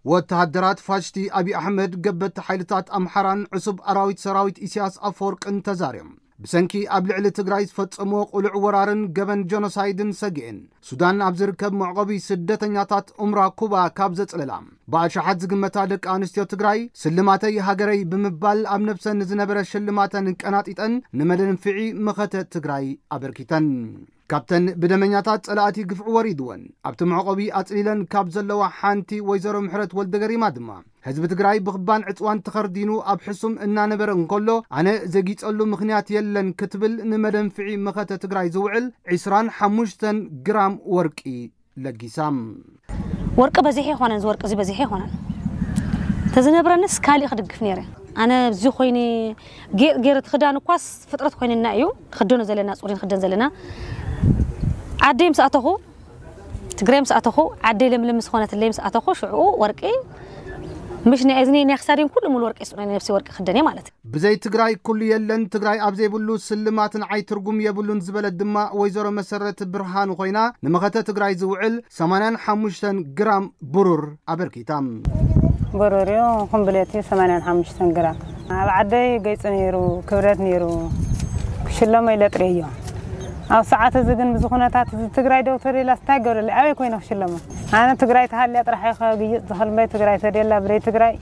ወተሃደራት ፋሽቲ ኣብይ ኣሕመድ ገበቲ ሓይልታት ኣምሓራን ዕሱብ ኣራዊት ሰራዊት ኢሳያስ ኣፈወርቅን ተዛርዮም ብሰንኪ ኣብ ልዕሊ ትግራይ ዝፈጸምዎ ቁሉዕ ወራርን ገበን ጀኖሳይድን ሰጊኤን ሱዳን ኣብ ዝርከብ መዕቆቢ ስደተኛታት ኡምራ ኩባ ካብ ዘጽለላ ብኣሽሓት ዝግመታ ደቂ ኣንስትዮ ትግራይ ስልማተይ ሃገረይ ብምባል ኣብ ነብሰን ዝነበረ ሽልማተን ቀናጢጠን ንመደንፍዒ መኸተ ትግራይ ኣበርኪተን። ካብተን ብደመኛታት ጸላእቲ ግፍዒ ወሪድወን ኣብቲ መዕቆቢ ኣጽሊለን ካብ ዘለዋ ሓንቲ ወይዘሮ ምሕረት ወልደገሪማ ድማ ህዝቢ ትግራይ ብኽባን ዕጽዋን ተኸርዲኑ ኣብ ሕሱም እናነበረ እንከሎ ኣነ ዘጊጸሉ ምኽንያት የለን ክትብል ንመደንፍዒ መኸተ ትግራይ ዝውዕል ዕስራን ሓሙሽተን ግራም ወርቂ ለጊሳ። ወርቂ በዚሕ ይኾነን ዝወርቂ እዚ በዚሕ ይኾነን ተዝነብረንስ ካሊእ ክድግፍ ነይረ። ኣነ እዚ ኮይኒ ጌር ጌር ትኽዳን እኳስ ፍጥረት ኮይንና እዩ ክደኖ ዘለና ጹሪ ንክደን ዘለና ዓደይ ምስ ኣተኹ ትግራይ ምስ ኣተኹ ዓደይ ለምለም ምስ ኾነትለይ ምስ ኣተኹ ሽዑ ወርቂ ምሽ ናይ እዝኒ ናይ ክሳደይን ኩሉ ሙሉ ወርቂ ስጡኒ ነብሲ ወርቂ ክደን እየ ማለት እዩ። ብዘይ ትግራይ ኩሉ የለን ትግራይ ኣብ ዘይብሉ ስልማት ንዓይ ትርጉም የብሉን ዝበለት ድማ ወይዘሮ መሰረት ብርሃኑ ኮይና ንመኸተ ትግራይ ዝውዕል ሰማንያን ሓሙሽተን ግራም ብሩር ኣበርኪታ። በሮርዮ ኮምብሌት ሰማንያን ሓሙሽተን ግራም ኣብ ዓደይ ገይፂ ነይሩ ክብረት ነይሩ ክሽለሞ ኢለ ጥርዮ ኣብ ሰዓት እዚ ግን ብዚ ኩነታት እዚ ትግራይ ደው ተሪላ ስታይ ገብረለይ ኣበይ ኮይነ ክሽለሞ ኣነ ትግራይ ተሃልያ ጥራሕ እየ ከግይፅ ዝኸልበይ ትግራይ ተደላ ብረይ ትግራይ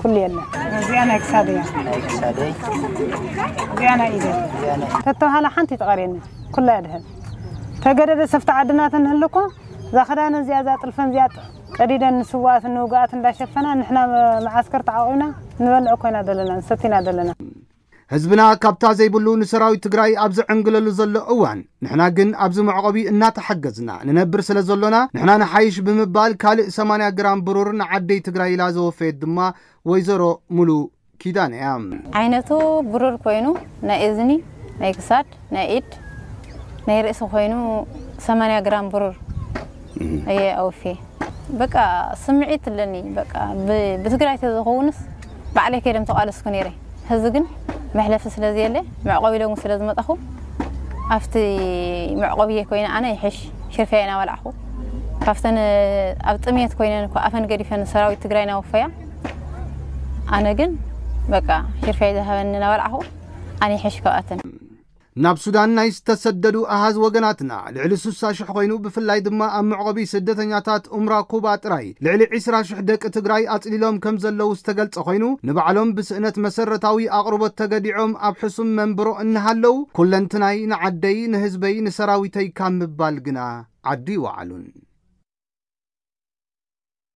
ኩሉ የለን። እዚኣ ናይ ክሳድ እያ። ናይ ክሳደይ። እዚኣ ናይ ኢደ። እዚኣ ናይ ተተባሃለ ሓንቲ ተቐርየኒ ኩላ እያ ድሕር ተገደደ ሰፍቲ ዓድና ተንህልኮ እዛ ክዳን እዚኣ እዛ ጥልፈን እዚኣ ቀዲደን ንስዋኣትን ንውግኣት እንዳሸፈና ንሕና መዓስከር ተዓቂብና ንበልዕ ኮይና ዘለና ንሰቲና ዘለና። ህዝብና ካብታ ዘይብሉ ንሰራዊት ትግራይ ኣብ ዝዕንግለሉ ዘሎ እዋን ንሕና ግን ኣብዚ መዕቆቢ እናተሓገዝና ንነብር ስለ ዘሎና ንሕና ንሓይሽ ብምባል ካልእ ሰማንያ ግራም ብሩር ንዓደይ ትግራይ ኢላ ዘወፈየት ድማ ወይዘሮ ሙሉ ኪዳነ እያ። ዓይነቱ ብሩር ኮይኑ ናይ እዝኒ ናይ ክሳድ ናይ ኢድ ናይ ርእሲ ኮይኑ ሰማንያ ግራም ብሩር እየ ኣውፌ። በቃ ስምዒት ኣለኒ በቃ ብ- ብትግራይ ተዝኸውንስ ባዕለይ ከይደም ተቃለስኩ ነይረ። ሕዚ ግን መሕለፊ ስለዘየለ መዕቆቢ ሎሚ ስለዝመጣኹ ኣብቲ መዕቆብየ ኮይነ ኣነ ይሕሽ ሽርፍያ ኢና በላዕኹ። ካብተን ኣብ ጥሜት ኮይነን እኮ ኣፈን ገዲፈን ሰራዊት ትግራይ ናወፈያ ኣነ ግን በቃ ሽርፍያ ዝሃበኒ ናበላዕኹ ኣነ ይሕሽ ካብኣተን። ናብ ሱዳን ናይ ዝተሰደዱ ኣሃዝ ወገናትና ልዕሊ ስሳ ሽሕ ኮይኑ ብፍላይ ድማ ኣብ መዕቆቢ ስደተኛታት ኡምራ ኩባ ጥራይ ልዕሊ ዒስራ ሽሕ ደቂ ትግራይ ኣፅሊሎም ከም ዘለዉ ዝተገልጸ ኮይኑ ንባዕሎም ብስእነት መሰረታዊ ኣቕርቦት ተገዲዖም ኣብ ሕሱም መንብሮ እናሃለዉ ኩለንትናይ ንዓደይ ንህዝበይ ንሰራዊተይ ካብ ምባል ግና ዓዱ ይወዓሉን።